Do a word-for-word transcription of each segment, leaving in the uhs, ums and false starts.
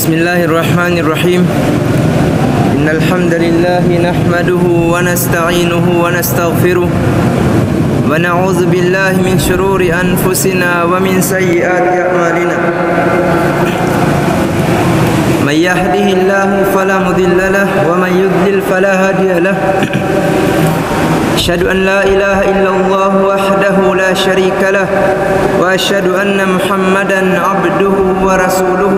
بسم الله الرحمن الرحيم. إن الحمد لله نحمده ونستعينه ونستغفره، ونعوذ بالله من شرور أنفسنا ومن سيئات أعمالنا. من يهده الله فلا مضل له، ومن يضلل فلا هادي له. أشهد أن لا إله إلا الله وحده لا شريك له، وأشهد أن محمدا عبده ورسوله.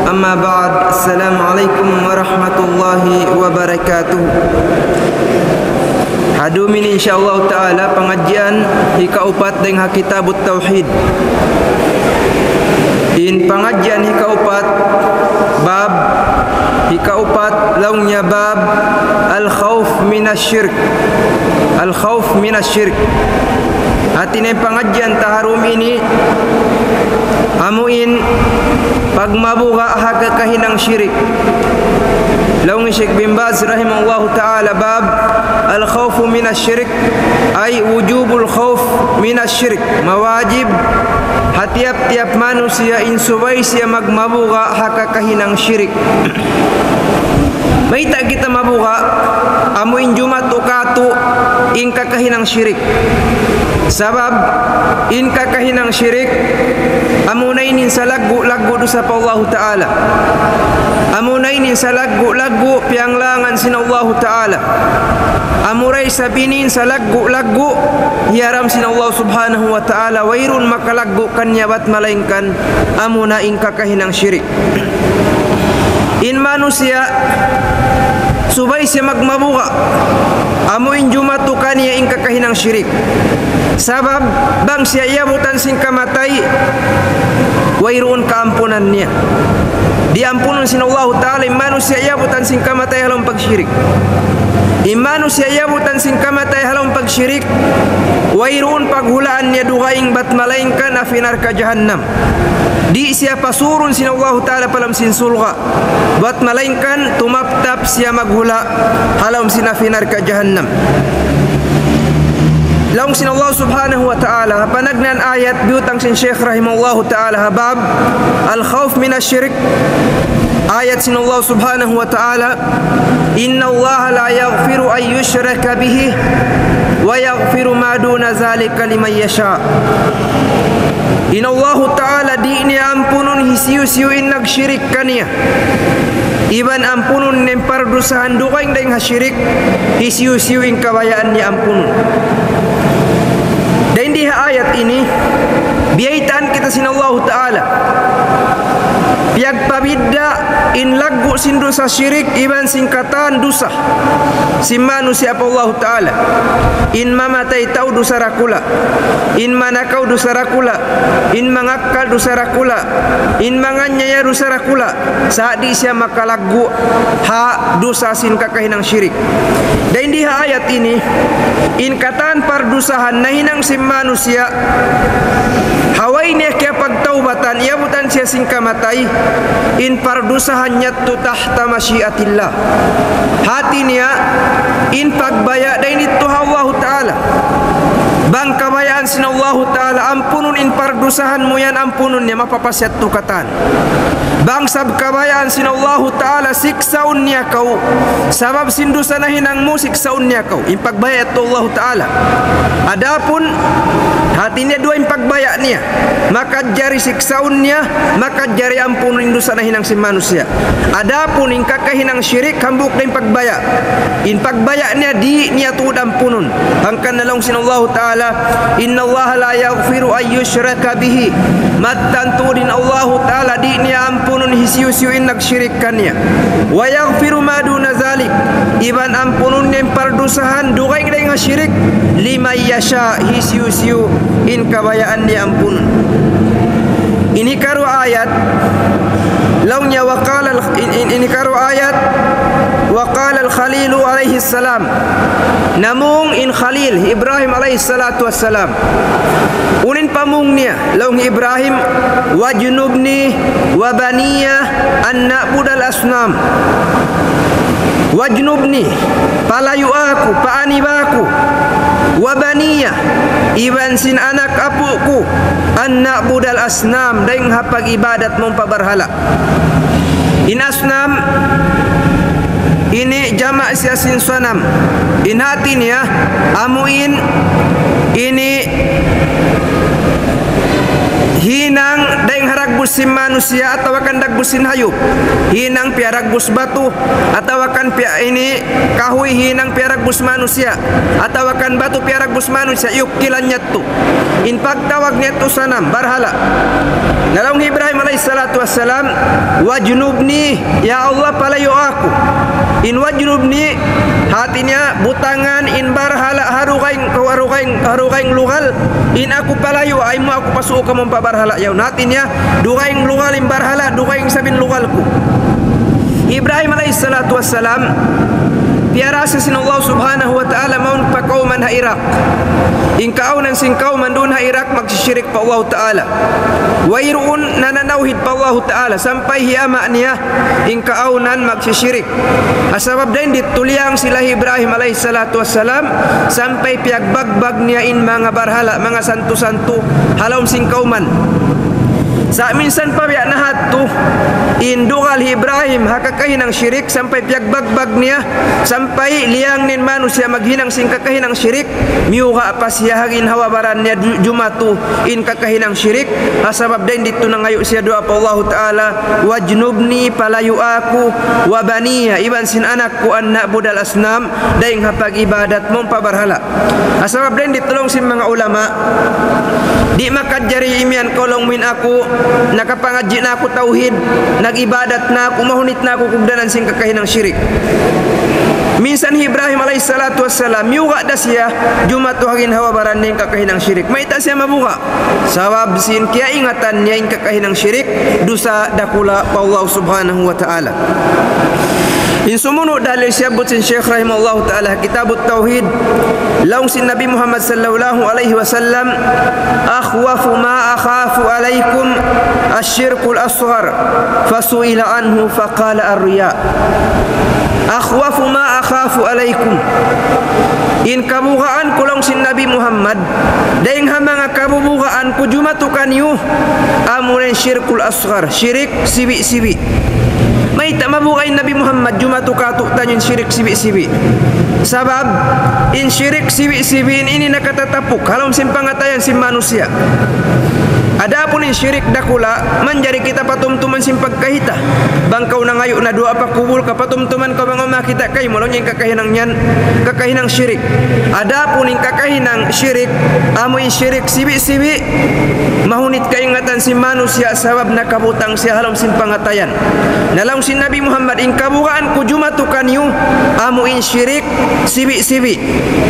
أما بعد، السلام عليكم ورحمة الله وبركاته. Ha dum ini, insya Allah Ta'ala, pangadjian hikaupat dayn ha Kitabut Tawhid. In pangadjian hikaupat, bab hikaupat, laung niya bab al-khawf minash shirk. Al-khawf minash shirk. Hati niya in pangadjian ta ha dum ini, amu in pagmabuga' ha kakahinang shirik. Laung hi Sheikh bin Baz rahimahullahu ta'ala, bab al-khawf minash shirk, ay wujubul khawf minash shirk. Mawajib ha tiyap-tiyap manusiya' in subay siya magmabuga' ha kakahinang shirik. Mayta' kita mabuga'? Amu in jumatu katu' in kakahinang shirik. Sabab in kakahinang shirik, amuna in salaggu'-laggu' dusa pa Allahu Ta'ala. Amuna in salaggu'-laggu' piyanglangan sin Allahu Ta'ala. Amura isab in salaggu'-laggu' hiyaram sin Allah Subhanahu wa Ta'ala, wayruun makalaggu' kaniya bat malaingkan amuna in kakahinang shirik. In manusiya' subay siya magmabuga', amu in jumatu kaniya in kakahinang shirik. Sabab bang siya iyabutan sin kamatay, wayruun kaampunan niya. Di' ampunun sin Allahu Ta'ala in manusiya' iyabutan sin kamatay ha lawm pagshirik. In manusiya' iyabutan sin kamatay ha lawm pagshirik, wayruun paghulaan niya dugaing bat malaingkan api narka' jahannam. Di' siya pasurun sin Allahu Ta'ala pa lawm sin surga', bat malaingkan tumaptap siya maghula' ha lawm sin api narka' jahannam. Laung sin Allah Subhanahu wa Ta'ala, ha panagnaan ayat biyutang sin Sheikh rahimahullahu ta'ala ha bab al-khawf minash shirk, ayat sin Allah Subhanahu wa Ta'ala, إن الله لا يغفر أن يشرك به ويغفر ما دون ذلك لمن يشاء. In Allahu Ta'ala di' niya ampunun hisiyu-siyu in nagshirik kaniya. Iban ampunun niya in pardusahan dugaing dayn ha shirik, hisiyu-siyu in kabayaan niya ampunun. Dayn di ha ayat ini, biyaytaan kita sin Allahu Ta'ala. Piyagpabidda' in laggu' sin dusa shirik iban sin katan dusa sin manusiya' pa Allahu Ta'ala. In mamatay tau dusa dakula'. In manakaw dusa dakula'. In mangakkal dusa dakula'. In manganiyaya dusa dakula'. Sa' di' siya makalaggu' ha dusa sin kakahinang shirik. Dayn di ha ayat ini, in katan pardusahan nahinang sin manusiya', ha way niya kiyapagtawbatan, iyabutan siya sin kamatay, in pardusahan niya yadtu tahta mashi'atillah. Hati niya, in pagbaya' dayn didtu ha Allahu Ta'ala. Bang kabayaan sin Allahu Ta'ala, ampunun in pardusahan mu yan, ampunun niya, mapapas yadtu katan. Bang sab kabayaan sin Allahu Ta'ala, siksaun niya kaw. Sabab sin dusa nahinang mu, siksaun niya kaw. In pagbaya' yadtu Allahu Ta'ala. Adapun, hati niya duwa in pagbaya' niya. Makajari siksaun niya, makajari ampunun in dusa nahinang sin manusiya'. Adapun in kakahinang shirik, hambuuk da in pagbaya'. In pagbaya' niya di' niya tuud ampunun. Hangkan na laung sin Allahu Ta'ala, إن الله لا يغفر أن يشرك به. Mattan tuud in Allahu Ta'ala di' niya ampunun hisiyu-siyu in nagshirik kaniya. ويغفر ما دون ذلك. Iban ampunun niya in pardusahan dugaing dayn ha shirik. لمن يشاء, hisiyu-siyu in kabayaan niya ampunun. Ini karuwa ayat, laung niya وقال ال-, in, in, ini karuwa ayat, وقال الخليل عليه السلام. Namung in Khalil, Ibrahim alayhi salatu wassalam. Unu in pamung niya, laung Ibrahim, واجنبني وبني أن نعبد الأصنام. واجنبني, palayua aku, paaniba aku, وبني, iban sin anak apu' ku, أن نعبد الأصنام, dayn ha pag-ibadat mawn pa barhala'. In asnam, ini jama' siya sin sanam. In hati niya, amu in, ini hinang dayn ha dagbus sin manusiya' atawa kan dagbus sin hayup. Hinang piyaragbus batu, atawa kan piya ini kahuy hinang piyaragbus manusiya', atawa kan batu piyaragbus manusiya', iyukilan niya tu. In pagtawag niya tu sanam, barhala'. Na laung Ibrahim alayhi salatu wassalam, "Wajnubni, ya Allah, palayu' aku." In wajnubni, hati niya butangan in barhala' ha dugaing, ha dugaing, ha dugaing lugal, in aku palayu', ayaw mu aku pasuu' kamu pa barhala' yaun. Hati niya, dugaing lugal in barhala', dugaing isab in lugal ku. Ibrahim alayhi salatu wassalam, piyarasa sin Allah subhanahu wa ta'ala mawn pa kawman ha Iraq. In kaawnan sin kawman duun ha Iraq magsisirik pa Allah ta'ala. Wayruun nananawhid pa Allah ta'ala, sampay hi ama' niya in kaawnan magsisirik. Ha sabab dayn ditu liyang sila Ibrahim alayhi salatu wassalam, sampay piyagbagbag niya in manga barhala', manga santu-santu, ha lawm sin kawman. Sa' minsan pa biya' na hadtu, in dugal hi Ibrahim ha kakahinang shirik, sampay piyagbagbag niya, sampay liyang in manusiya' maghinang sin kakahinang shirik, miyuga' pa siya ha ginhawa-baran niya du-, jumatu in kakahinang shirik, ha sabab dayn ditu nangayu' siya duwaa pa Allahu ta'ala, "Wajnubni, palayu' aku, wa baniya, iban sin anak ku, an na'budal asnam, dayn ha pag-ibadat mawn pa barhala'." Ha sabab dayn ditu laung sin manga ulama, di' makajari imiyan kaw laung mu in aku, nakapangadji' na aku tawhid, nag-ibadat na aku, mahunit na aku kugdanan sin kakahinang shirik. Minsan hi Ibrahim alayhi salatu wassalam, miyuga' da siya, jumatu ha ginhawa-baran niya in kakahinang shirik. Mayta' siya mabuga'? Sabab sin kiyaingatan niya in kakahinang shirik, dusa dakula' pa Allah subhanahu wa ta'ala. In sumunud dalil siyabbut sin Shaykh rahimahullahu ta'ala, Kitabut Tawhid, laung sin Nabi Muhammad sallallahu alayhi wasallam, "Akhwafu ma akhafu alaykum ash-shirkul asghar, fasu'ila anhu faqala ar-riya." "Akhwafu ma akhafu alaykum." In kabugaan ku laung sin Nabi Muhammad, dayn ha manga kabubugaan ku jumatu kaniyu, amuna in shirkul asghar, shirik sibi'-sibi'. Mayta' mabuga' in Nabi Muhammad jumatu kātu'niyu in shirik sibi'-sibi'? Sabab, in shirik sibi'-sibi' in ini nakatatapuk ha lawm sin pangatayan sin manusiya'. Adapun in shirik dakula', manjari kita patumtuman sin pagkahi ta. Bang kaw nangayu' na duwaa pa kubul, kapatumtuman kaw bang awn makakita' kaymu, laung niya in kakahinang yan, kakahinang shirik. Adapun in kakahinang shirik, amu in shirik sibi'-sibi', mahunit kaingatan sin manusiya' sabab nakabutang siya ha lawm sin pangatayan. Na laung sin Nabi Muhammad, in kabugaan ku jumatu kaniyu, amu in shirik sibi'-sibi'.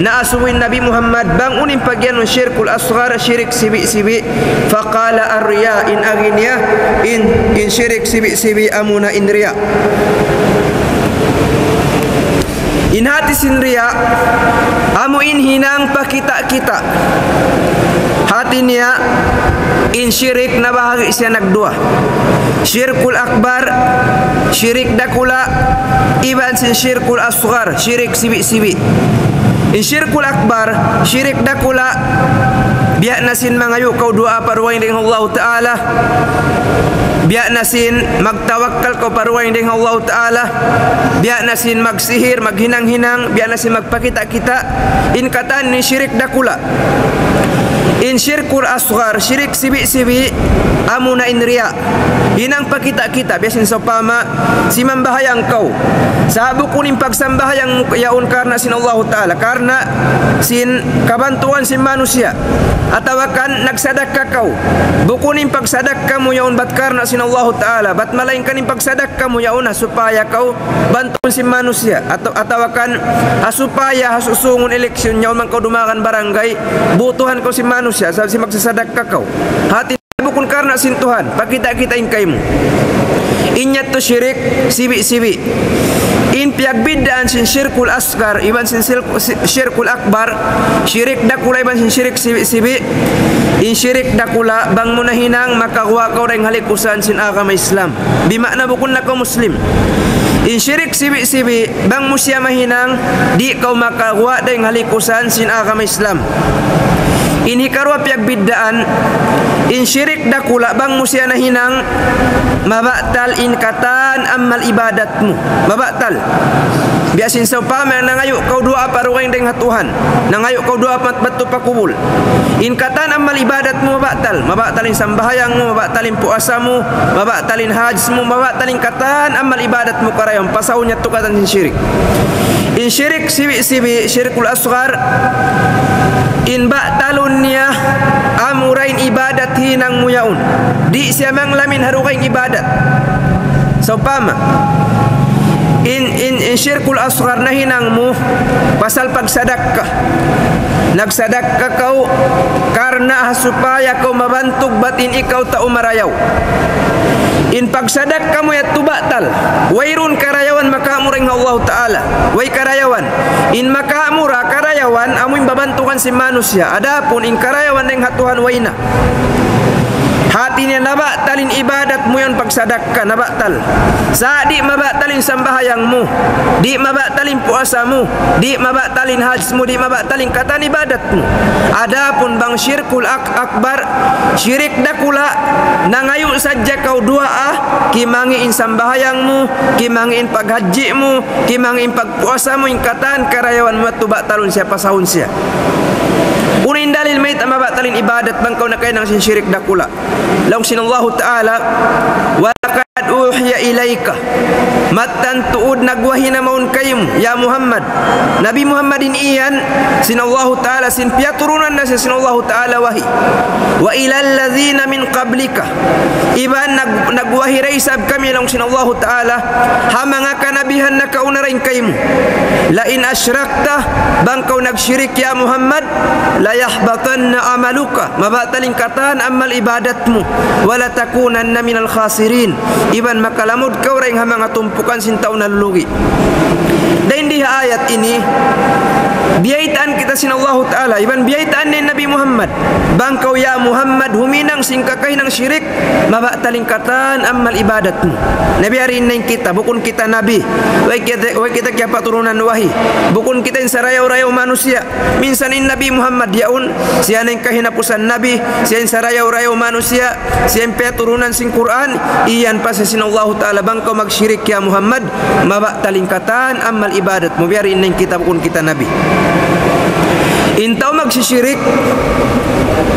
Na asubu in Nabi Muhammad, bang unu in pagiyanun shirkul asghar, shirik sibi'-sibi'. Faqala ar-riya, in agi niya, in, in shirik sibi'-sibi', amuna in riya. In hati sin riya, amu in hinang pakita'-kita'. Hati niya, in shirik nabahagi' siya nagduwa. Shirkul akbar, shirik dakula', iban sin shirkul asghar, shirik sibi'-sibi'. In shirkul akbar, shirik dakula', biya' na sin mangayu' kaw duwaa pa dugaing dayn ha Allahu ta'ala, biya' na sin magtawakkal kaw pa dugaing dayn ha Allahu ta'ala, biya' na sin magsihir, maghinang-hinang, biya' na sin magpakita'-kita', in katan ini shirik dakula'. In shirkul asghar, shirik sibi'-sibi', amuna in riya. Hinang pakita'-kita', biya' sin sawpama, simambahayang kaw. Sa' bukun in pagsambahayang mu yaun karna' sin Allahu ta'ala, karna' sin kabantuan sin manusiya'. Atawa kan nagsadakka kaw. Bukun in pagsadakka mu yaun bat karna' sin Allahu ta'ala, bat malaingkan in pagsadakka mu yaun ha supaya kaw bantuun sin manusiya'. Ataw-, atawa kan ha supaya ha susungun eleksyon yaun man kaw dumagan barangay, butuhan kaw sin manusiya', sabab sin magsasadakka kaw. Hati bukun karna' sin Tuhan, pakita'-kita' in kaymu. In yadtu shirik sibi'-sibi'. In piyagbiddaan sin shirkul asghar, iban sin shirk-, si-, shirkul akbar, shirik dakula' iban sin shirik sibi'-sibi'. In shirik dakula', bang mu nahinang, makaguwa' kaw dayn ha likusan sin agama Islam. Bima'na bukun na kaw Muslim. In shirik sibi'-sibi', bang mu siya mahinang, di' kaw makaguwa' dayn ha likusan sin agama Islam. In hikaruwa piyagbiddaan, In shirik dakula' bang mu siya nahinang, mabatal in katan amal ibadat mu. Mabatal. Biya' sin sawpama nangayu' kaw duwaa pa dugaing dayn ha Tuhan. Nangayu' kaw duwaa pa, madtu pa kubul. In katan amal ibadat mu mabatal. Mabatal in sambahayang mu, mabatal in puasa mu, mabatal in hajj mu, mabatal in katan amal ibadat mu karayawan. Pasahun niya tu katan sin shirik. In shirik sibi'-sibi', shirkul asghar, in batalun niya, amura in ibadat hinang mu yaun. Di' siya manglam in ha dugaing ibadat. Sawpama, in, in, in shirkul asghar nahinang mu, pasal pagsadakka. Nagsadakka kaw, karna' ha supaya kaw mabantug bat in ikaw tau marayaw. In pagsadakka mu yadtu batal. Wayruun karayawan makaamura dayn ha Allahu Ta'ala. Way karayawan. In makaamura karayawan, amu in babantugan sin manusiya'. Adapun in karayawan dayn ha Tuhan way na. Hati niya nabatal in ibadat mu yan pagsadakka, nabatal. Sa' di' mabatal in sambahayang mu. Di' mabatal in puasa mu. Di' mabatal in hajj mu. Di' mabatal in katan ibadat mu. Adapun bang shirkul ak-, akbar, shirik dakula', nangayu' sadja kaw duwaa, kimangi' in sambahayang mu, kimangi' in paghajji mu, kimangi' in pagpuasa mu, in katan karayawan mu yadtu batalun siya, pasahun siya. Unu in dalil mayta' mabatal in ibadat bang kaw nakahinang sin shirik dakula'? Laung sin Allahu Ta'ala, وَلَقَدْ أُوحِيَ إِلَيْكَ. Mattan tuud nagwahi na mawn kaymu, ya Muhammad. Nabi Muhammad in iyan, sin Allahu Ta'ala, sin piyaturunan na siya sin Allahu Ta'ala wahi. وَإِلَى الَّذِينَ مِنْ قَبْلِكَ. Iban nag-, nagwahi da isab kami laung sin Allahu Ta'ala, ha manga kanabihan nakauna dayn kaymu. لَئِنْ أَشْرَكْتَ, bang kaw nagshirik ya Muhammad, لَيَحْبَطَنَّ عَمَلُكَ. Mabatal in katan amal ibadat mu. وَلَتَكُونَنَّ مِنَ الْخَاسِرِينَ. Iban makalamud kaw dayn ha manga tumpukan sin tau nalulugi'. Dayn di ha ayat ini, biyaytaan kita sin Allahu Ta'ala, iban biyaytaan niya in Nabi Muhammad. Bang kaw ya Muhammad, huminang sin kakahinang shirik, mabatal in katan amal ibadat mu. Na biya' diin na in kita, bukun kita nabi. Way kita, way kita kiyapaturunan wahi. Bukun kita in sarayaw-rayaw manusiya'. Minsan in Nabi Muhammad yaun, siya na in kahinapusan nabi, siya in sarayaw-rayaw manusiya', siya in piyaturunan sin Qur'an, iyan pa siya sin Allahu Ta'ala, bang kaw magshirik ya Muhammad, mabatal in katan amal ibadat mu, biya' diin na in kita bukun kita nabi. In tau magsishirik,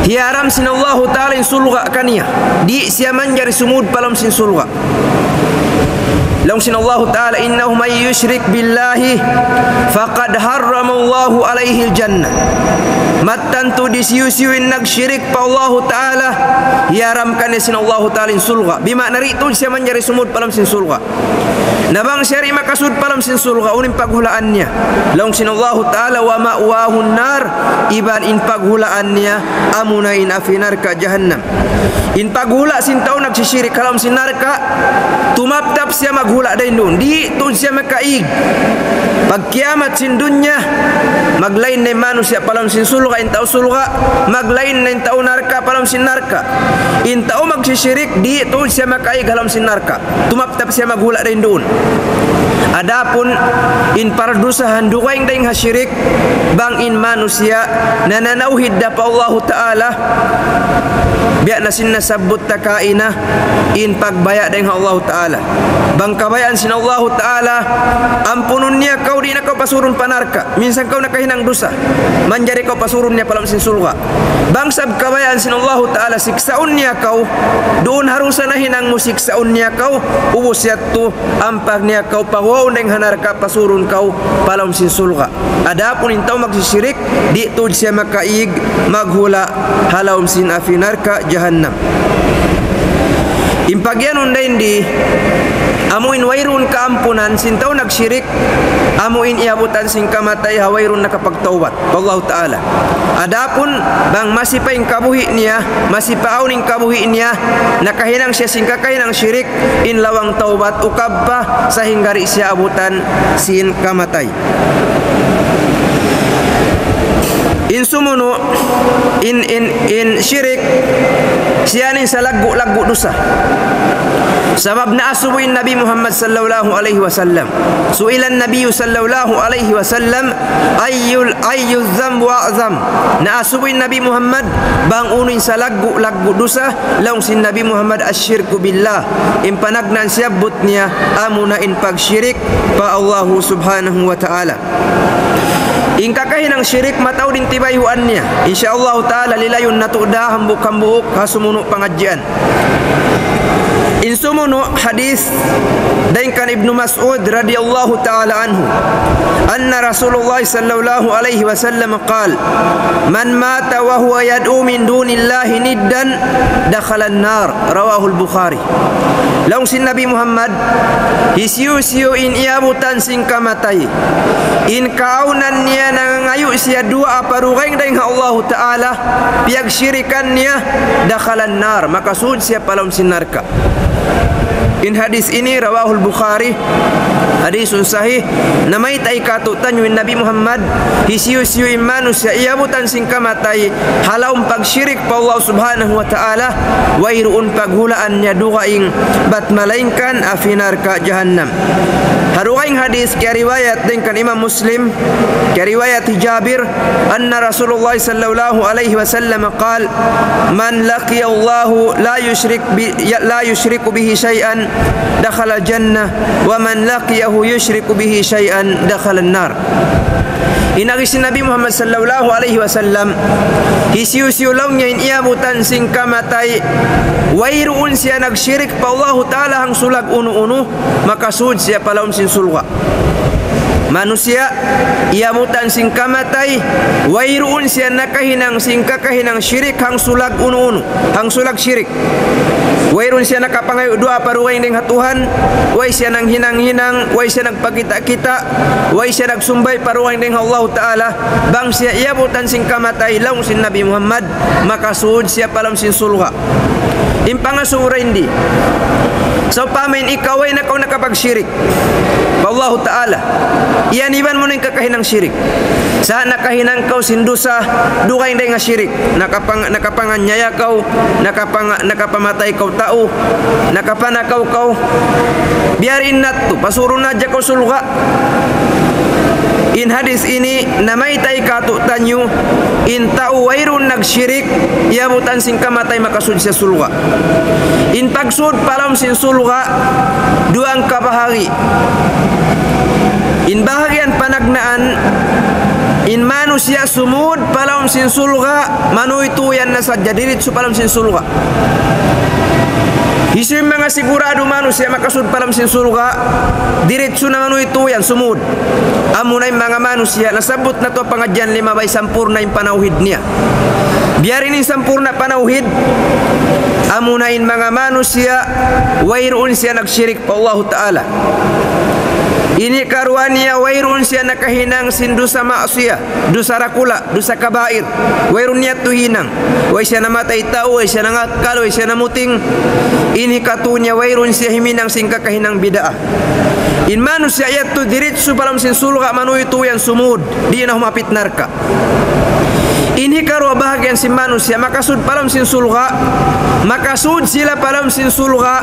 hiyaram sin Allahu Ta'ala in surga' kaniya. Di' siya manjari sumud pa lawm sin surga'. Laung sin Allahu Ta'ala, إِنَّهُ مَن يُشْرِكْ بِاللَّهِ فَقَدْ حَرَّمَ اللَّهُ عَلَيْهِ الْجَنَّةَ. Mattan tuud hisiyu-siyu in nagshirik pa Allahu Ta'ala, hiyaram kaniya sin Allahu Ta'ala in surga'. Bima'na di' tuud siya manjari sumud pa lawm sin surga'. Na bang siya di' makasud pa lawm sin surga', unu in paghulaan niya? Laung sin Allahu Ta'ala, وَمَأْوَاهُ النَّارُ, iban in paghulaan niya, amuna in api narka' jahannam. In paghula' sin tau nagsishirik ha lawm sin narka', tumaptap siya maghula' dayn duun. Di' tuud siya makaig. Pagkiyamat sin dunya, maglain na in manusiya' pa lawm sin surga', in tau surga', maglain na in tau narka' pa lawm sin narka'. In tau magsishirik, di' tuud siya makaig ha lawm sin narka'. Tumaptap siya maghula' dayn duun. Adapun in pardusahan dugaing dayn ha shirik, bang in manusiya' nananawhid da pa Allahu Ta'ala, biya' na sin nasabbut ta kaina, in pagbaya' dayn ha Allahu Ta'ala. Bang kabayaan sin Allahu Ta'ala, ampunun niya kaw, di' na kaw pasurun pa narka'. Minsan kaw nakahinang dusa, manjari kaw pasurun niya pa lawm sin surga'. Bang sab kabayaan sin Allahu Ta'ala, siksaun niya kaw, duun ha dusa nahinang mu siksaun niya kaw, ubus yadtu, ampa niya kaw paguwaun dayn ha narka', pasurun kaw pa lawm sin surga'. Adapun in tau magsishirik, di' tuud siya makaig maghula' ha lawm sin api narka' jahannam. In pagiyanun dayn di, amu in wayruun kaampunan sin tau nagshirik, amu in iyabutan sin kamatay ha wayruun nakapagtawbat pa Allahu Ta'ala. Adapun bang masi pa in kabuhi' niya, masi pa awn in kabuhi' niya, nakahinang siya sin kakahinang shirik, in lawang tawbat ukab pa sahingga di' siya abutan sin kamatay. In sumunu', in, in, in shirik, siya in salaggu'-laggu' dusa. Sabab naasubu in Nabi Muhammad sallallahu alayhi wasallam. سئل النبي صلى الله عليه وسلم: أي، أي الذنب أعظم؟ Naasubu in Nabi Muhammad, bang unu in salaggu'-laggu' dusa, laung sin Nabi Muhammad, الشرك بالله. In panagnaan siyabbut niya, amuna in pagshirik pa Allahu subhanahu wa ta'ala. In kakahinang shirik mataud in tibayhuan niya. Insya Allah ta'ala lilayun natu' da hambuuk-hambuuk ha sumunu' pangadjian. In sumunu' hadith dayn kan Ibnu Mas'ud radiyallahu ta'ala anhu. أن رسول الله صلى الله عليه وسلم قال: من مات وهو يدعو من دون الله ندا دخل النار. رواه البخاري. Laung sin Nabi Muhammad, hisiyu-siyu in iyabutan sin kamatay, in kaawnan niya nangangayu' siya duwaa pa dugaing dayn ha Allahu Ta'ala, piyagshirikan niya, دخل النار, makasud siya pa lawm sin narka'. In hadith ini, رواه البخاري, hadithun sahih, namayta' katu'niyu in Nabi Muhammad, hisiyu-siyu in manusiya' iyabutan sin kamatay, ha lawm pagshirik pa Allah Subhanahu wa Ta'ala, wayruun paghulaan niya dugaing bat malaingkan api narka' jahannam. Ha dugaing hadith kiyariwayat dayn kan Imam Muslim, kiyariwayat hi Jabir, أن رسول الله صلى الله عليه وسلم قال: من لقي الله لا يشرك ب-، لا يشرك به شيئا دخل الجنة، ومن لقيه يشرك به شيئا دخل النار. In agi sin Nabi Muhammad sallallahu alayhi wasallam, hisiyu-siyu laung niya in iyabutan sin kamatay, wayruun siya nagshirik pa Allahu Ta'ala hangsulag unu-unu, makasud siya pa lawm sin surga'. Manusiya', iyabutan sin kamatay, wayruun siya nakahinang sin kakahinang shirik hangsulag unu-unu, hangsulag shirik. Wayruun siya nakapangayu' duwaa pa dugaing dayn ha Tuhan, way siya nanghinang-hinang, way siya nagpakita'-kita', way siya nagsumbay pa dugaing dayn ha Allahu Ta'ala, bang siya iyabutan sin kamatay, laung sin Nabi Muhammad, makasud siya pa lawm sin surga'. In pangasubu dayn di. Sawpama in ikaw way na kaw nakapagshirik pa Allahu Ta'ala, iyaniban mu na in kakahinang shirik. Sa' nakahinang kaw sin dusa, dugaing dayn ha shirik. Nakapang-, nakapanganyaya kaw, nakapang-, nakapamatay kaw tau, nakapanakaw kaw. Biya' diin na yadtu, pasurun na hadja kaw surga'. In hadith ini, namayta' katu'niyu, in tau wayruun nagshirik, iyabutan sin kamatay makasud siya surga'. In pagsud pa lawm sin surga', duwa in kabahagi. In bahagian panagnaan, in manusiya' sumud pa lawm sin surga', manuytuyan na sadja diritsu pa lawm sin surga'. Hisiyu in manga siguradu manusiya' makasud pa lawm sin surga', diritsu na manuytuyan, sumud. Amuna in manga manusiya', nasabbut natu' ha pangadjian limabay sampurna' in panawhid niya. Biya' diin in sampurna' panawhid, amuna in manga manusiya', wayruun siya nagshirik pa Allahu Ta'ala. Ini karuwa niya, wayruun siya nakahinang sin dusa maksiyat, dusa dakula', dusa kabair. Wayruun niya yadtu hinang. Way siya namatay tau, way siya nangakkal, way siya namuting. Ini katu' niya, wayruun siya himinang sin kakahinang bid'ah. In manusiya' yadtu diritsu pa lawm sin surga', manuytuyan sumud, di' na humapit narka'. In hikaruwa bahagian sin manusiya' makasud pa lawm sin surga', makasud sila pa lawm sin surga',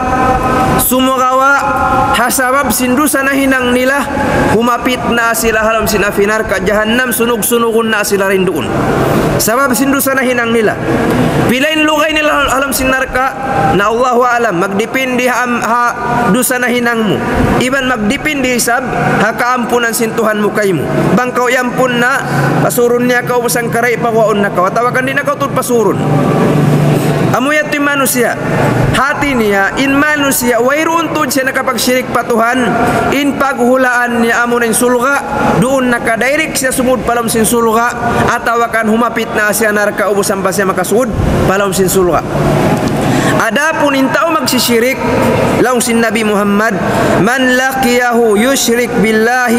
sumagawa' ha sabab sin dusa nahinang nila, humapit na sila ha lawm sin api narka' jahannam, sunug-sunugun na sila dayn duun. Sabab sin dusa nahinang nila. Pila in lugay nila ha lawm sin narka', na Allahu a'lam, magdipindi ha, ha dusa nahinang mu. Iban magdipindi isab ha kaampunan sin Tuhan mu kaymu. Bang kaw iyampun na, pasurun niya kaw, bang karay paguwaun na kaw. Atawa kan di' na kaw tuud pasurun. Amu yadtu in manusiya'. Hati niya, in manusiya', wayruun tuud siya nakapagshirik pa Tuhan, in paghulaan niya amuna in surga', duun nakadirect siya sumud pa lawm sin surga', atawa kan humapit na siya narka' ubus ampa siya makasud pa lawm sin surga'. Adapun in tau magsishirik, laung sin Nabi Muhammad, من لقيه يشرك بالله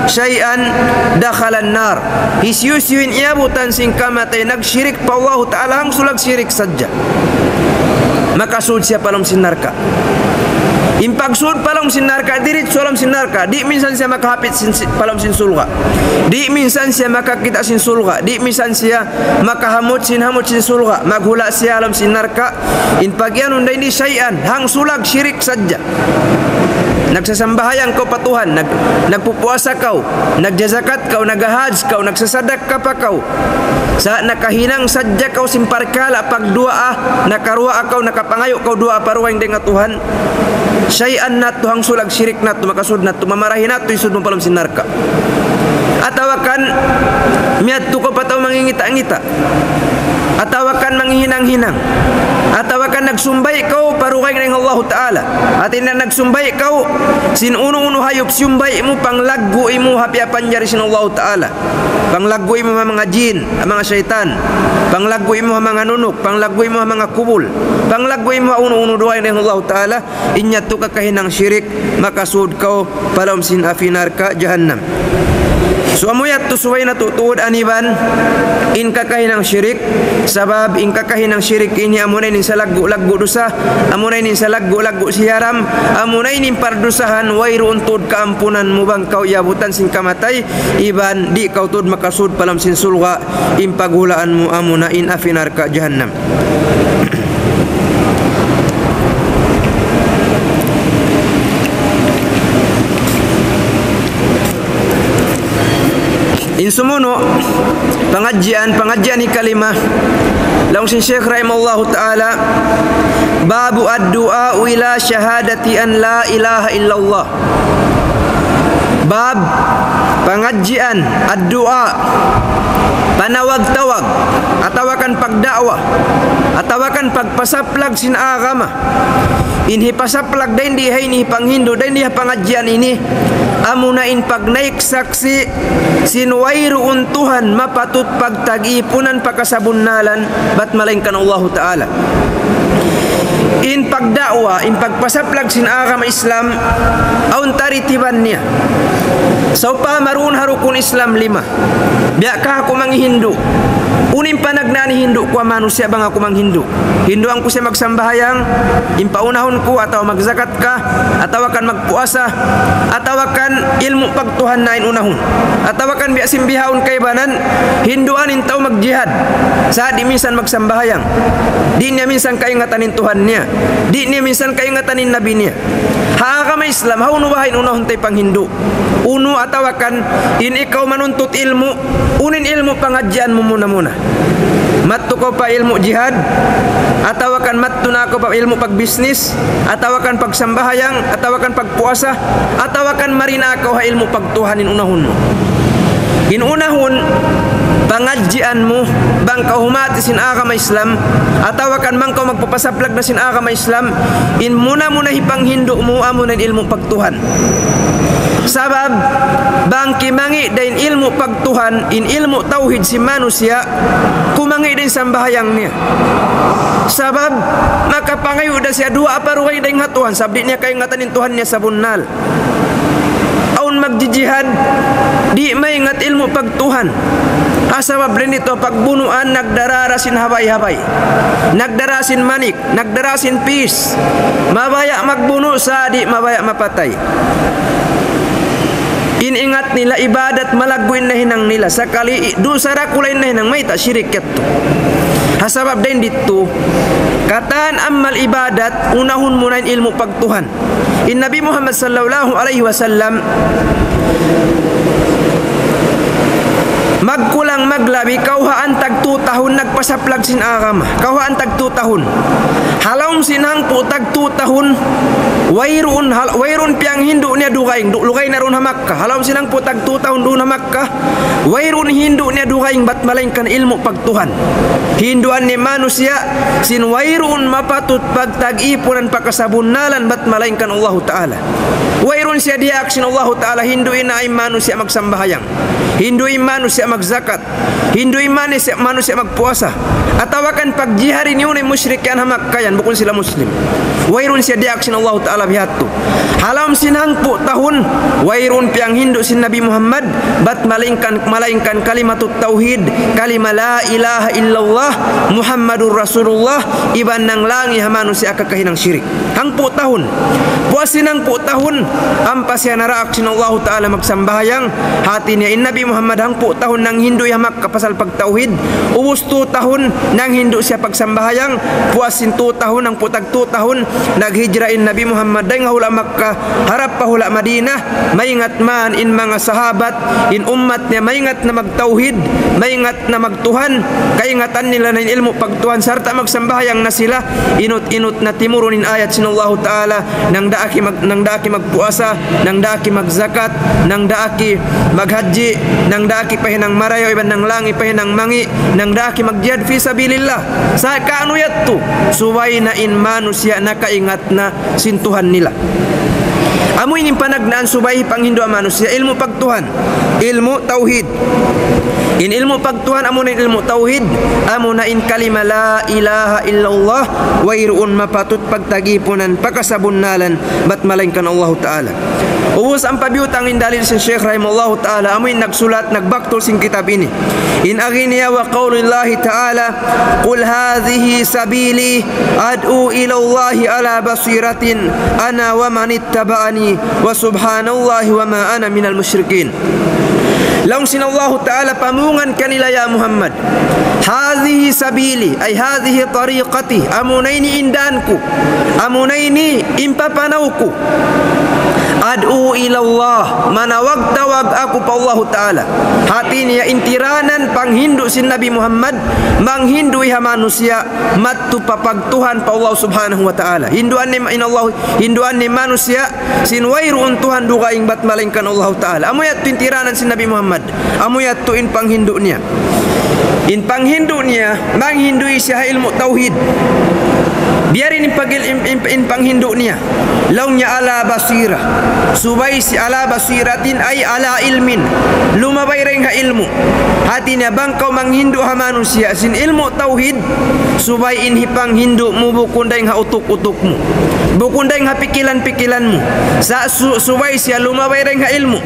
شيئا دخل النار. Hisiyu-siyu in iyabutan sin kamatay nagshirik pa Allahu Ta'ala hangsulag shirik sadja, makasud siya pa lawm sin narka'. In pagsud pa lawm sin narka', diritsu ha lawm sin narka'. Di' minsan siya makahapit sin, si-, pa lawm sin surga'. Di' minsan siya makakita' sin surga'. Di' minsan siya makahamut sin hamut sin surga'. Maghula' siya ha lawm sin narka'. In pagiyanun da ini shay'an, hangsulag shirik sadja. Nagsasambahayang kaw pa Tuhan, nag-, nagpupuasa kaw, nagjazakat kaw, naghahaj kaw, nagsasadakka pa kaw. Sa' nakahinang sadja kaw sin parkala' pagduwaa, nakaruwaa kaw, nakapangayu' kaw duwaa pa dugaing dayn ha Tuhan. Shay'an na yadtu, hangsulag shirik na yadtu, makasud na yadtu, mamarahi na yadtu in sud mu pa lawm sin narka'. Atawa kan, miyadtu kaw pa tau mangingita'-ngita'. Atawa kan manghihinang-hinang. Atawa kan nagsumbay' kaw pa dugaing dayn ha Allahu Ta'ala. Hati niya nagsumbay' kaw, sin unu-unu hayup siyumbay' mu, panglaggu' mu ha piyapanjari sin Allahu Ta'ala. Panglaggu' mu ha manga jin, ha manga saytan. Panglaggu' mu ha manga nunuk, panglaggu' mu ha manga kubul. Panglaggu' mu ha unu-unu dugaing dayn ha Allahu Ta'ala. In yadtu kakahinang shirik, makasud kaw pa lawm sin api narka' jahannam. So, amu yadtu subay natu' tuud aniban in kakahinang shirik, sabab in kakahinang shirik ini amuna in salaggu'-laggu' dusa, amuna in salaggu'-laggu' siyaram, amuna in pardusahan, wayruun tuud kaampunan mu bang kaw iyabutan sin kamatay, iban di' kaw tuud makasud pa lawm sin surga', in paghulaan mu amuna in api narka' jahannam. In sumunu', pangadjian, pangadjian hikalima, laung sin Shaykh rahimahullahu ta'ala, باب الدعاء إلى شهادة أن لا إله إلا الله. Bab, pangadjian, ad-du'a, panawag-tawag, atawa kan pagda'wa, atawa kan pagpasaplag sin agama. In hipasaplag dayn di ha ini, hipanghindu' dayn di ha pangadjian ini, amuna in pagnaik saksi' sin wayruun Tuhan mapatut pagtagipunan pa kasabunnalan bat malaingkan Allahu Ta'ala. In pagda'wa, in pagpasaplag sin agama Islam, awn tartiban niya. Sawpama duun ha rukun Islam lima. Biya' ka aku manghindu'. Unu in panagnaan hindu' ku ha manusiya' bang aku manghindu'? Hinduan ku siya magsambahayang, in paunahun ku, atawa magzakat ka, atawa kan magpuasa, atawa kan ilmu' pagtuhan na in unahun, atawa kan biya' sin bihaun kaibanan, hinduan in tau magjihad, sa' di' minsan magsambahayang, di' niya minsan kaingatan in Tuhan niya, di' niya minsan kaingatan in Nabi niya. Ha agama Islam, hawnu baha' in unahun ta hipanghindu'? Unu atawa kan in ikaw manuntut ilmu', unu in ilmu' pangadjian mu muna-muna? Madtu kaw pa ilmu' jihad, atawa kan madtu na kaw pa ilmu' pagbisnis, atawa kan pagsambahayang, atawa kan pagpuasa, atawa kan mari na kaw ha ilmu' pagtuhan in unahun mu? In unahun pangadjian mu, bang kaw humati sin agama Islam, atawa kan bang kaw magpapasaplag na sin agama Islam, in muna-muna hipanghindu' mu, amuna in ilmu' pag- Tuhan. Sabab, bang kimangi' da in ilmu' pagtuhan, in ilmu' tawhid sin manusiya', kumangi' da in sambahayang niya. Sabab, makapangayu' da siya duwaa pa dugaing dayn ha Tuhan, sabab di' niya kaingatan in Tuhan niya sabunnal. Awn magjijihad, di' maingat ilmu' pagtuhan. Ha sabab dayn didtu pagbunuan, nagdarara sin habay-habay. Nagdarara sin manik. Nagdara sin pis. Mabaya' magbunu' sa' di' mabaya' mapatay. In ingat nila ibadat malaggu' in nahinang nila. Sakali i-, dusa dakula' in nahinang, mayta'? Shirik yadtu. Ha sabab dayn didtu, katan amal ibadat, unahun mu na in ilmu' pagtuhan. In Nabi Muhammad sallallahu alayhi wasallam, magkulang maglabi, kawhaan tagtu tahun nagpasaplag sin agama. Kawhaan tagtu tahun. Ha lawm sin hangpu' tagtu tahun, wayruun, hal-, wayruun piyanghindu' niya dugaing, du-, lugay na duun ha Makkah. Ha lawm sin hangpu' tagtu tahun duun ha Makkah, wayruun hindu' niya dugaing bat malaingkan ilmu' pagtuhan. Hinduan niya manusiya', sin wayruun mapatut pagtagipunan pa kasabunnalan bat malaingkan Allahu Ta'ala. Wayruun siya diyaak sin Allahu Ta'ala, hindu' in manusiya' magsambahayang. Hindu' in manusiya' magzakat. Hindu' in manusiya', manusiya' magpuasa. Atawa kan pagjihad ini unu in mushrik yan ha Makkah yan, bukun sila Muslim. Wayruun siya diyaak sin Allahu Ta'ala biha' yadtu. Ha lawm sin hangpu' tahun, wayruun piyanghindu' sin Nabi Muhammad, bat malaingkan, malaingkan kalimatut tawhid, kalima la ilaha illallah, Muhammadur Rasulullah, iban nanglangi ha manusiya' kakahinang shirik. Hangpu' tahun. Puas sin hangpu' tahun, ampa siya naraak sin Allahu Ta'ala magsambahayang, hati niya in Nabi Muhammad hangpu' tahun nanghindu' ha Makkah pasal pagtawhid, ubus tu tahun nanghindu' siya pagsambahayang, puas sin tu tahun, hangpu' tag tu tahun, naghijra in Nabi Muhammad dayn ha hula' Makkah, harap pa hula' Madinah, maingat man in manga sahabat, in ummat niya maingat na magtawhid, maingat na magtuhan, kaingatan nila na in ilmu' pagtuhan, sarta' magsambahayang na sila, inut-inut na timurun in ayat sin Allahu Ta'ala, nang daaki mag-, nang daaki magpuasa, nang daaki magzakat, nang daaki maghajji, nang daaki pahinang marayaw, iban nanglangi pahinang mangi', nang daaki magjihad fi sabilillah. Sa' kaunu yadtu, subay na in manusiya' nakaingat na sin Tuhan nila. Amu ini in panagnaan subay panghindu' manusiya' ilmu' pagtuhan, ilmu' tawhid. In ilmu' pagtuhan, amuna in ilmu' tawhid, amuna in kalima la ilaha illallah, wayruun mapatut pagtagipunan, pakasabunnalan, bat malaingkan Allahu Ta'ala. Ubus ampa biyutang in dalil sin Shaykh rahimahullahu ta'ala, amu in nagsulat, nagbaktul sin kitab ini. In agi niya وقول الله تعالى قل هذه سبيلي أدعو إلى الله على بصيرة أنا ومن اتبعني وسبحان الله وما أنا من المشركين. Laung sin Allahu Ta'ala, pamungan kanila ya Muhammad, هذه سبيلي, ay هذه طريقتي, amuna ini in dān ku, amuna ini in papanaw ku. أدعو إلى الله, manawag-tawag aku pa Allahu Ta'ala. Hati niya in tiranan panghindu' sin Nabi Muhammad, manghindu' ha manusiya', madtu pa pagtuhan pa Allah Subhanahu wa Ta'ala. Hinduan niya in Allah, hinduan niya manusiya', sin wayruun Tuhan dugaing bat malaingkan Allahu Ta'ala. Amu yadtu in tiranan sin Nabi Muhammad. Amu yadtu in panghindu' niya. In panghindu' niya, manghindu' siya ha ilmu' tawhid. Biya' diin in pagil-, in, in, in panghindu' niya. Laung niya على بصيرة. Subay siya على بصيرة, ay على علم. Lumabay dayn ha ilmu'. Hati niya bang kaw manghindu' ha manusiya' sin ilmu' tawhid, subay in hipanghindu' mu bukun dayn ha utuk-utuk mu. Bukun dayn ha pikilan-pikilan mu. Sa' su-, subay siya lumabay dayn ha ilmu'.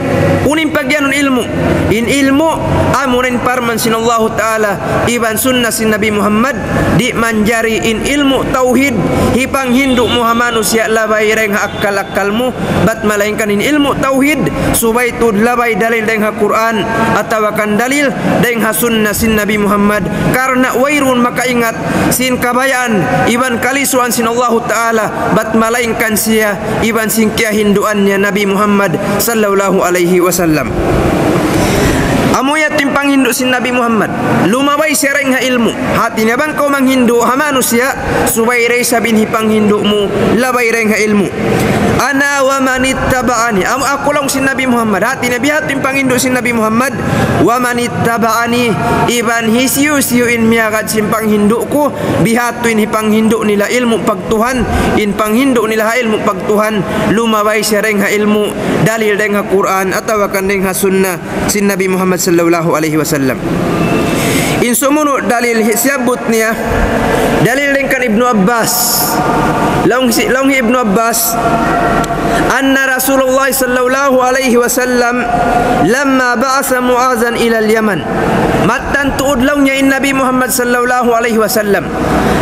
Unu in pagiyanun ilmu'? In ilmu', amuna in parman sin Allahu Ta'ala, iban sunna sin Nabi Muhammad, di' manjari in ilmu' tawhid, hipanghindu' mu ha manusiya' labay dayn ha akkal-akkal mu, bat malaingkan in ilmu' tawhid, subay tuud labay dalil dayn ha Qur'an, atawa kan dalil dayn ha sunna sin Nabi Muhammad, karna' wayruun makaingat sin kabayaan iban kalisuan sin Allahu Ta'ala, bat malaingkan siya iban sin kiyahinduan niya Nabi Muhammad sallallahu alayhi wasallam. Amu yadtu in panghindu' sin Nabi Muhammad. Lumabay siya dayn ha ilmu'. Hati niya bang kaw manghindu' ha manusiya', subay da isab in hipanghindu' mu, labay dayn ha ilmu'. أنا ومن اتبعني. Amu aku laung sin Nabi Muhammad. Hati niya biya' ha yadtu in panghindu' sin Nabi Muhammad. ومن اتبعني. Iban hisiyu-siyu in miyagad sin panghindu' ku, biya' ha yadtu in hipanghindu' nila ilmu' pagtuhan, in panghindu' nila ha ilmu' pagtuhan, lumabay siya dayn ha ilmu', dalil dayn ha Qur'an, atawa kan dayn ha sunna sin Nabi Muhammad sallallahu alayhi wasallam. In sumunu' dalil hi-, siyabbut niya, dalil dayn kan Ibnu Abbas. Laung hi-, laung hi Ibnu Abbas, أن رسول الله صلى الله عليه وسلم لما بعث معاذا إلى اليمن. Mattan tuud laung niya in Nabi Muhammad sallallahu alayhi wasallam.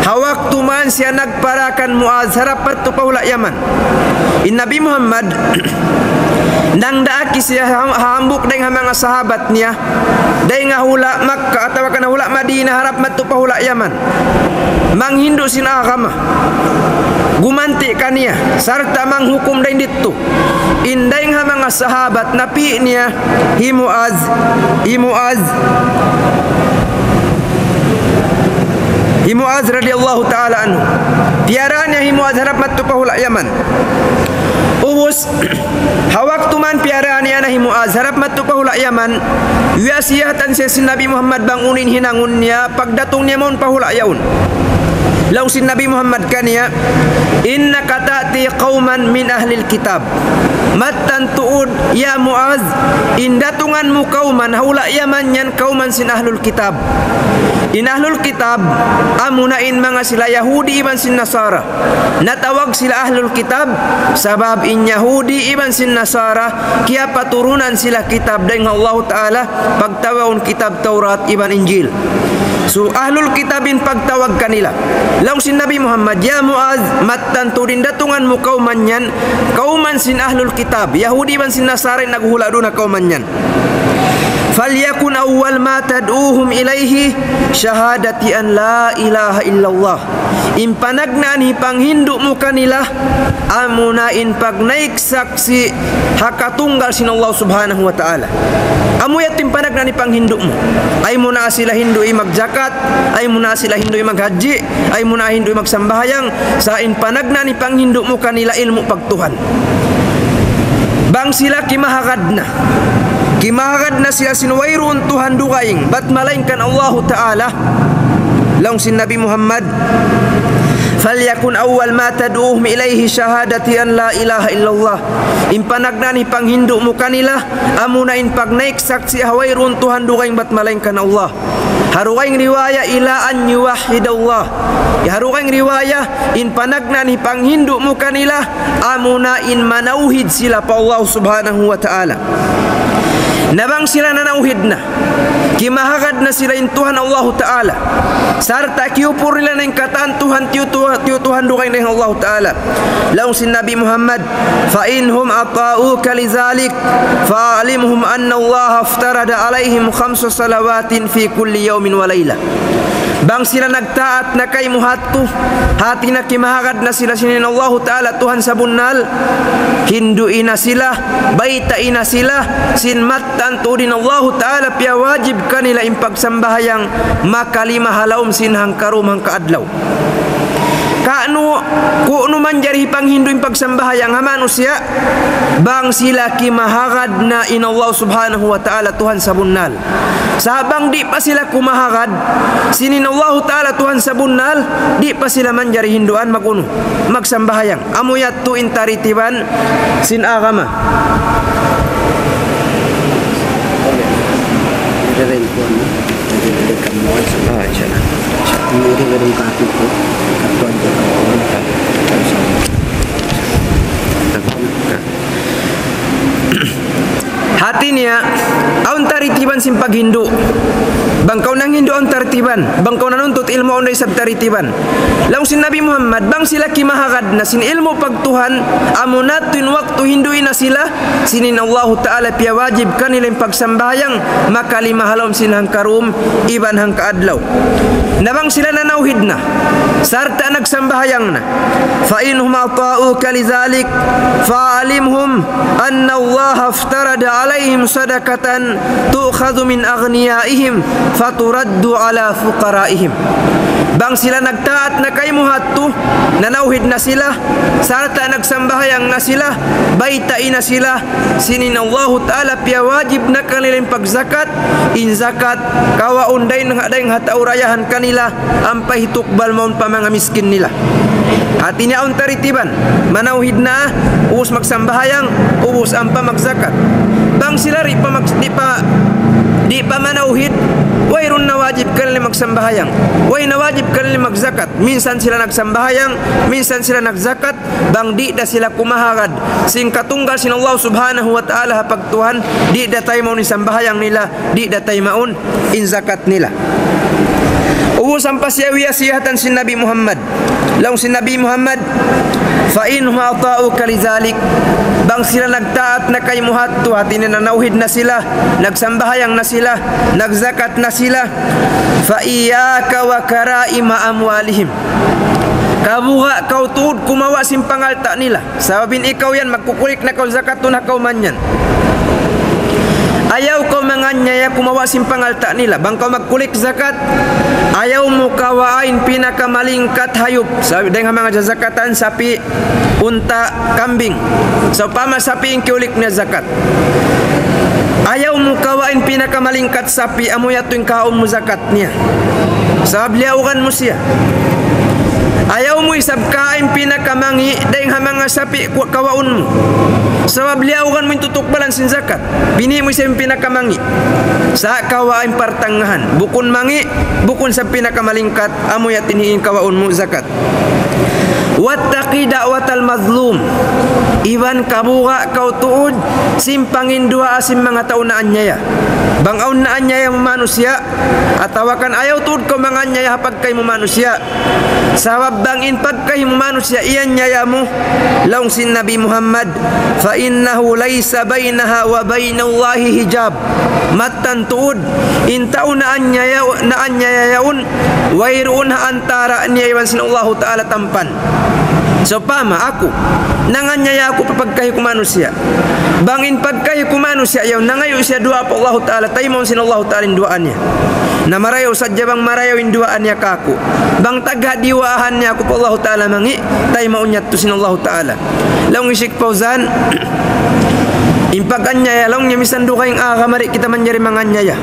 Ha waktu man siya nagpara kan Muaz harap madtu pa hula' Yaman. In Nabi Muhammad, nangdaak siya ha-, hambuuk dayn ha manga sahabat niya, dayn ha hula' Makkah atawa kan hula' Madinah harap madtu pa hula' Yaman. Manghindu' sin agama. Gumanti' kaniya, sarta' manghukum dayn didtu. In dayn ha manga sahabat, napi' niya hi Muaz, hi Muaz, hi Muaz radiyallahu ta'ala anhu. Piyara niya hi Muaz harap madtu pa hula' Yaman. Ubus, ha waktu man piyara niya na hi Muaz harap madtu pa hula' Yaman, wiyasiyatan siya sin Nabi Muhammad bang unu in hinangun niya, pagdatung niya mawn pa hula' yaun. Laung sin Nabi Muhammad kaniya, إنك تأتي قوما من أهل الكتاب. Mattan tuud, ya Muaz, in datungan mu kawman, ha hula' Yaman yan kawman sin ahlul kitab. In ahlul kitab, amuna in manga sila Yahudi iban sin Nasara. Natawag sila ahlul kitab, sabab in Yahudi iban sin Nasara, kiyapaturunan sila kitab dayn ha Allahu Ta'ala, pagtawagun kitab Tawrat iban Injil. So, ahlul kitab in pagtawag kanila. Laung sin Nabi Muhammad, "Ya Muaz, mattan tuud in datungan mu kawman yan, kawman sin ahlul kitab, Yahudi iban sin Nasara in naghuhula' duun ha kawman yan. فليكن أول ما تدعوهم إليه شهادة أن لا إله إلا الله." In panagnaan hipanghindu' mu kanila, amuna in pagnaik saksi' ha katunggal sin Allah Subhanahu wa Ta'ala. Amu yadtu in panagnaan hipanghindu' mu. Ayaw mu na sila hindu'i magjakat, ayaw mu na sila hindu'i maghajji, ayaw mu na hindu'i magsambahayang, sa' in panagnaan hipanghindu' mu kanila ilmu' pagtuhan. Bang sila kimahagad na. Kimahagad na sila sin wayruun Tuhan dugaing, bat malaingkan Allahu Ta'ala. Laung sin Nabi Muhammad, "فليكن أول ما تدعوهم إليه شهادة أن لا إله إلا الله." In panagnaan hipanghindu' mu kanila, amuna in pagnaik saksi' ha wayruun Tuhan dugaing bat malaingkan Allah. Ha dugaing riwaya, "إلى أن يوحدوا الله." Ha dugaing riwaya, in panagnaan hipanghindu' mu kanila, amuna in manawhid sila pa Allah Subhanahu wa Ta'ala. Na bang sila nanawhid na, kimahagad na sila in Tuhan Allahu Ta'ala, sarta' kiyupur nila na in katan Tuhan, tiyu-, tiyu-, tiyutuhan dugaing dayn ha Allahu Ta'ala. Laung sin Nabi Muhammad, "فإن هم أطاعوك لذلك فأعلمهم أن الله افترض عليهم خمس صلوات في كل يوم وليلة." Bang sila nagtaat na kaymu ha yadtu, hati niya kimahagad na sila sin in Allahu Ta'ala Tuhan sabunnal, hindu'i na sila, baytai na sila, sin mattan tuud in Allahu Ta'ala piyawajib kanila in pagsambahayang makalima ha lawm sin hangkarum hangkaadlaw. Kunu', kunu' manjari hipanghindu' in pagsambahayang ha manusiya', bang sila kimahagad na in Allah Subhanahu wa Ta'ala Tuhan sabunnal. Sa' bang di' pa sila kumahagad sin in Allahu Ta'ala Tuhan sabunnal, di' pa sila manjari hinduan mag-unu, magsambahayang. Amu yadtu in taritiban sin agama. Ah, insya Allah. Hati niya, awn taritiban sin paghindu'. Bang kaw nanghindu' awn taritiban. Bang kaw nanuntut ilmu' awn da isab taritiban. Laung sin Nabi Muhammad, bang sila kimahagad na sin ilmu' pagtuhan, amu na tuud in waktu hindu'i na sila, sin in Allahu Ta'ala piyawajib kanila in pagsambahayang, makalima ha lawm sin hangkarum, iban hangkaadlaw. Na bang sila nanawhid na, sarta' nagsambahayang na, فإن هم أطاعوك لذلك فأعلمهم أن الله افترض عليهم صدقة تؤخذ من أغنيائهم فترد على فقرائهم. Bang sila nagtaat na kaymu ha yadtu, nanawhid na sila, sarta' nagsambahayang na sila, baytai na sila, sin in Allahu Ta'ala piyawajib na kanila in pagzakat, in zakat, kawaun dayn ha, dayn ha tau dayahan kanila, ampa hitukbal mawn pa manga miskin nila. Hati niya awn taritiban, manawhid na, ubus magsambahayang, ubus ampa magzakat. Bang sila di' pa mag-, di' pa, di' pa manawhid, wayruun na wajib kanila magsambahayang, way na wajib kanila magzakat. Minsan sila nagsambahayang, minsan sila nagzakat, bang di' da sila kumahagad sin katunggal sin Allah Subhanahu wa Ta'ala ha pagtuhan, di' da taymaun in sambahayang nila, di' da taymaun in zakat nila. Ubus ampa siya wiyasiyatan sin Nabi Muhammad. Laung sin Nabi Muhammad, فإن هم أطاعوك لذلك. Bang sila nagtaat na kaymu ha yadtu, hati niya nanawhid na sila, nagsambahayang na sila, nagzakat na sila, فإياك وكرائم أموالهم. Kabuga' kaw tuud kumawa' sin pangalta' nila. Sabab in ikaw yan, magkukulik na kaw zakat tuud ha kawman yan. Ayaw kaw manganyaya kumawa' sin pangalta' nila. Bang kaw magkulik zakat, ayaw mu kawaa in pinakamalingkat hayup. Sabab dayn ha manga jazakatan, sapi', unta', kambing. Sawpama sapi' in kiyulik niya zakat, ayaw mu kawaa in pinakamalingkat sapi', amu yadtu in kaun mu zakat niya. Sabab liyaugan mu siya. Ayaw mu isab kawa' in pinakamangi' dayn ha manga sapi' ku-, kawaun mu. Sabab liyaugan mu in tutukbalan sin zakat. Bini' mu isab in pinakamangi'. Sa' kawa' in partangahan. Bukun mangi', bukun sa' pinakamalingkat, amu yadtu in kawaun mu zakat. واتق دعوة المظلوم. Iban kabuga' kaw tuud sin panginduwaa sin manga tau naanyaya. Bang awn naanyaya mu manusiya', atawa kan ayaw tuud kaw manganyaya ha pagkahi mu manusiya'. Sabab bang in pagkahi mu manusiya' iyanyaya mu, laung sin Nabi Muhammad, فإنه ليس بينها وبين الله حجاب. Mattan tuud, in tau naanyaya, naanyaya yaun, wayruun ha antara' niya iban sin Allahu Ta'ala tampan. Sawpama aku, nanganyaya aku pa pagkahi ku manusiya'. Bang in pagkahi ku manusiya' yaun, nangayu' siya duwaa pa Allahu Ta'ala, taymaun sin Allahu Ta'ala in duwaa niya. Na marayaw sadja bang marayaw in duwaa niya kāku'. Bang tagha' diyuwaahan niya aku pa Allahu Ta'ala mangi', taymaun yadtu sin Allahu Ta'ala. Laung hi Sheikh Fauzan, in pag-anyaya, laung niya, misan dugaing agama di' kita manjari manganyaya.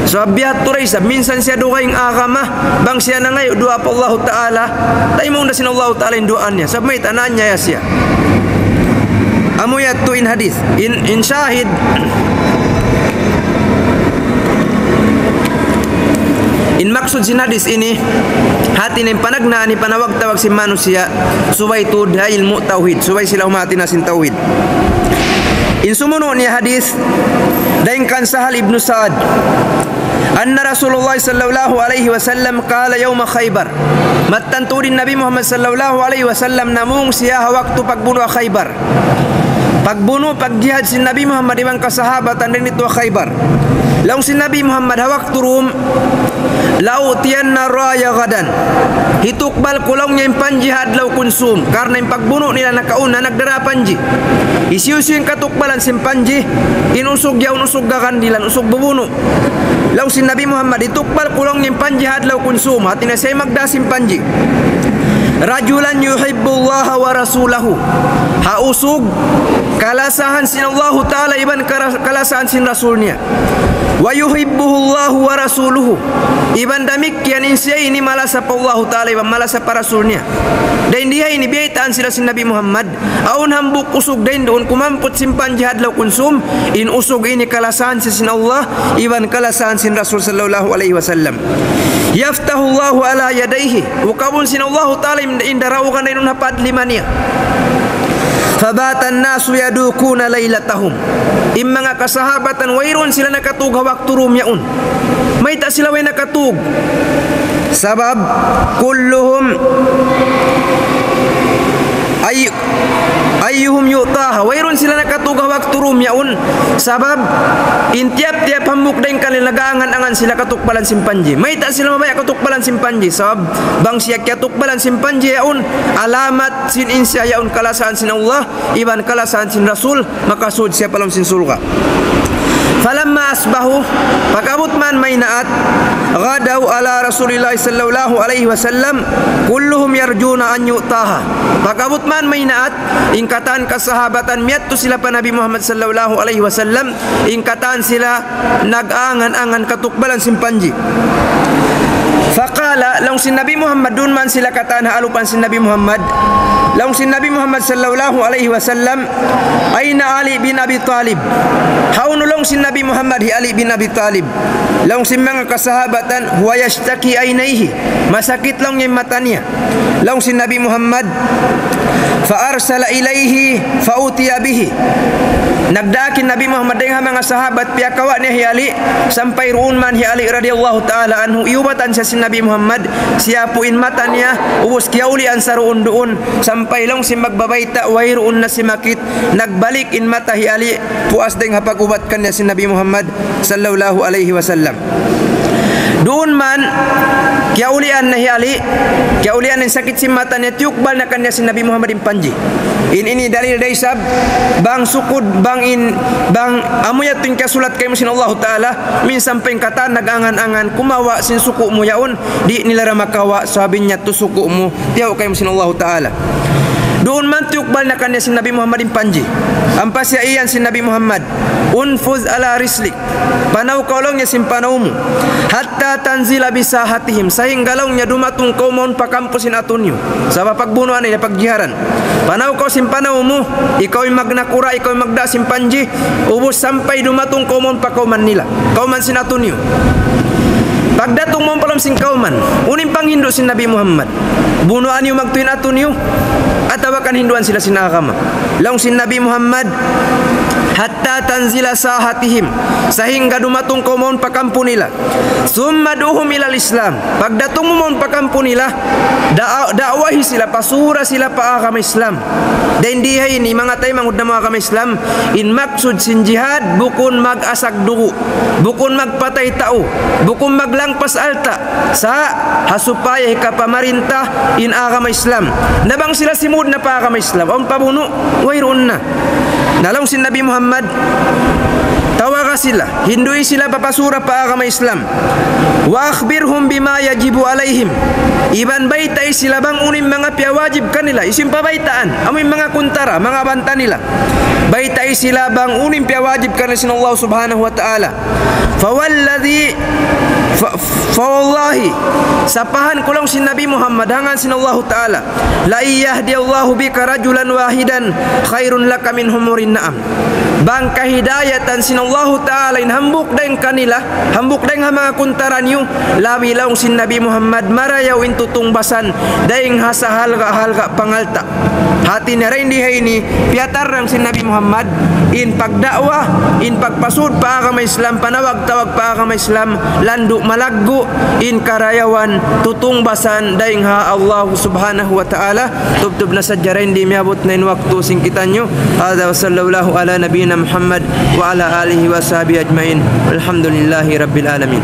Sabab biya' ha yadtu da isab, minsan siya dugaing agama, bang siya nangayu' duwaa pa Allahu Ta'ala, taymaun da sin Allahu Ta'ala in duwaa niya. Sabab mayta', naanyaya siya. Amu yadtu in hadith. In, in shahid, in maksud sin hadith ini, hāti niya in panagnaan, in panawag-tawag sin manusiya', subay tuud ha ilmu' tawhid, subay sila humāti na sin tawhid. In sumunu' niya hadith, dayn kan Sahal ibn Sa'ad, أن رسول الله صلى الله عليه وسلم قال يوم خيبر. Mattan tuud in Nabi Muhammad sallallahu alayhi wasallam namung siya ha waktu pagbunu' ha Khaybar. Pagbunu', pagjihad sin Nabi Muhammad iban kasahabatan dayn ditu ha Khaybar. Laung sin Nabi Muhammad ha waktu dūm, لأعطين الراية غدا. Hitukbal ku, laung niya, in panji ha adlaw kunsum. Karna' in pagbunu' nila nakauna, nagdara panji. Hisiyu-siyu in katukbalan sin panji, in usug yaun usug gagandilan, usug bubunu'. Laung sin Nabi Muhammad, hitukbal ku, laung niya, in panji ha adlaw kunsum, hāti niya siya magdā sin panji. رجلا يحب الله ورسوله. Ha usug kalasahan sin Allahu Ta'ala iban kara-, kalasahan sin Rasul niya. ويحبه الله ورسوله. Iban damikkiyan in siya ini malasa pa Allahu Ta'ala iban malasa pa Rasul niya. Dayn di ha ini biyaytaan sila sin Nabi Muhammad, awn hambuuk usug dayn duun kumamput sin panji ha adlaw kunsum, in usug ini kalasahan siya sin Allah, iban kalasahan sin Rasul sallallahu alayhi wasallam. يفتح الله على يديه. Ukabun sin Allahu Ta'ala in, in daraugan dayn duun ha padlima niya. فبات الناس يدوكون ليلتهم. In manga kasahabatan wayruun sila nakatug ha waktu dūm yaun. Mayta' sila way nakatug? Sabab كلهم أي-، أيهم يعطاها. Wayruun sila nakatug ha waktu dūm yaun. Sabab in tiyap-tiyap hambuuk dayn kanila nag-aangan-angan sila katukbalan sin panji. Mayta' sila mabaya' katukbalan sin panji? Sabab bang siya kiyatukbalan sin panji yaun, alamat sin in siya yaun kalasahan sin Allah iban kalasahan sin Rasul, makasud siya pa lawm sin surga'. فلما أصبحوا, pag-abut man maynaat, غدوا على رسول الله صلى الله عليه وسلم كلهم يرجون أن يعطاها. Pag-abut man maynaat, in katan kasahabatan miyadtu sila pa Nabi Muhammad sallallahu alayhi wasallam, in katan sila nag-angan-angan katukbalan sin panji. فقال, laung sin Nabi Muhammad, duun man sila katan ha alupan sin Nabi Muhammad. Laung sin Nabi Muhammad sallallahu alayhi wasallam, أين علي بن أبي طالب؟ Hawnu, laung sin Nabi Muhammad, hi Ali bin Abi Talib? Laung sin manga kasahabatan, هو يشتكي عينيه. Masakit, laung niya, in mata niya. Laung sin Nabi Muhammad, فأرسل إليه فأتي به. Nagdaak in Nabi Muhammad dayn ha manga sahabat, piyakawa' niya hi Ali, sampay duun man hi Ali radiyallahu ta'ala anhu, iyubatan siya sin Nabi Muhammad, siyapu' in mata niya, ubus kiyaulian sa duun-duun, sampay laung sin magbabayta', wayruun na simakit, nagbalik in mata hi Ali, puas dayn ha pag-ubat kaniya sin Nabi Muhammad sallallahu alayhi wasallam. Duun man, kiyaulian na hi Ali, kiyaulian in sakit sin mata niya, tiyukbal na kaniya sin Nabi Muhammad in panji. In ini dalil da isab, bang sukud, bang in, bang amu yadtu in kasulat kaymu sin Allahu Ta'ala, minsan pa in katan nag-angan-angan, kumawa' sin suku' mu yaun, di' nila da makawa', sabab in yadtu suku' mu, tiyaw kaymu sin Allahu Ta'ala. Duun man tiyukbal na kaniya sin Nabi Muhammad in panji. Ampa siya iyan sin Nabi Muhammad, "Unfuz ala rislik." Panaw kaw laung niya sin panaw mu. "Hatta tanzila bisahatihim." Sahingga laung niya dumatung kaw mawn pa kampu sin atu niyu. Sabab pagbunuan ini pagjiharan. Panaw kaw sin panaw mu. Ikaw in magnakura', ikaw in magda' sin panji. Ubus sampay dumatung kaw mawn pa kawman nila. Kawman sin atu niyu. Pagdatung mawn pa lawm sin kawman, unu in panghindu' sin Nabi Muhammad? Bunuan niyu magtuy in atu niyu, atawa kan hinduan sila sin agama? Laung sin Nabi Muhammad, "Hatta tanzila sahatihim." Sahingga dumatung kaw mawn pa kampu nila. "Thumma du'uhum ilal Islam." Pagdatung mu mawn pa kampu nila, da-, da'wahi sila, pasura sila pa agama Islam. Dayn di ha ini, manga taymanghud namu' agama Islam, in maksud sin jihad, bukun mag-asag dugu', bukun magpatay tau, bukun maglangpas alta', sa' ha supaya hikapamarinta in agama Islam. Na bang sila simud na pa agama Islam, awn pabunu', wayruun na. Na laung sin Nabi Muhammad, tawaga sila, hindui sila papasura pa agama Islam. "Wa akhbirhum bima yajibu alayhim." Iban baytai sila bang unu in manga piyawajib kanila. Hisiyu in pabaytaan? Amu in manga kuntara, manga banta nila. Baytai sila bang unu in piyawajib kanila sin Allah Subhanahu wa Ta'ala. "Fawalladhi, fa-, fawallahi," sapahan ku laung sin Nabi Muhammad, ha ngan sin Allahu Ta'ala, "la in yahdiyallahu bika rajulan wahidan khairun laka min humurin na'am." Bang kahidayatan sin Allahu Ta'ala in hambuuk dayn kanila, hambuuk dayn ha manga kuntara niyu, labi laung sin Nabi Muhammad, marayaw in tutungbasan dayn ha sahalga'-halga' pangalta'. Hati niya dayn di ha ini, piyatarrang sin Nabi Muhammad, in pagda'wa, in pagpasud pa agama Islam, panawag-tawag pa agama Islam, landu' malaggu', in karayawan, tutungbasan, dayn ha Allah Subhanahu wa Ta'ala. Tubtub na sadja dayn di, miyabut na in waktu sin kitaniyu. Hadha wa sallallahu ala nabiyyina Muhammad wa ala alihi wa sahbihi ajma'in. Walhamdulillahi rabbil alamin.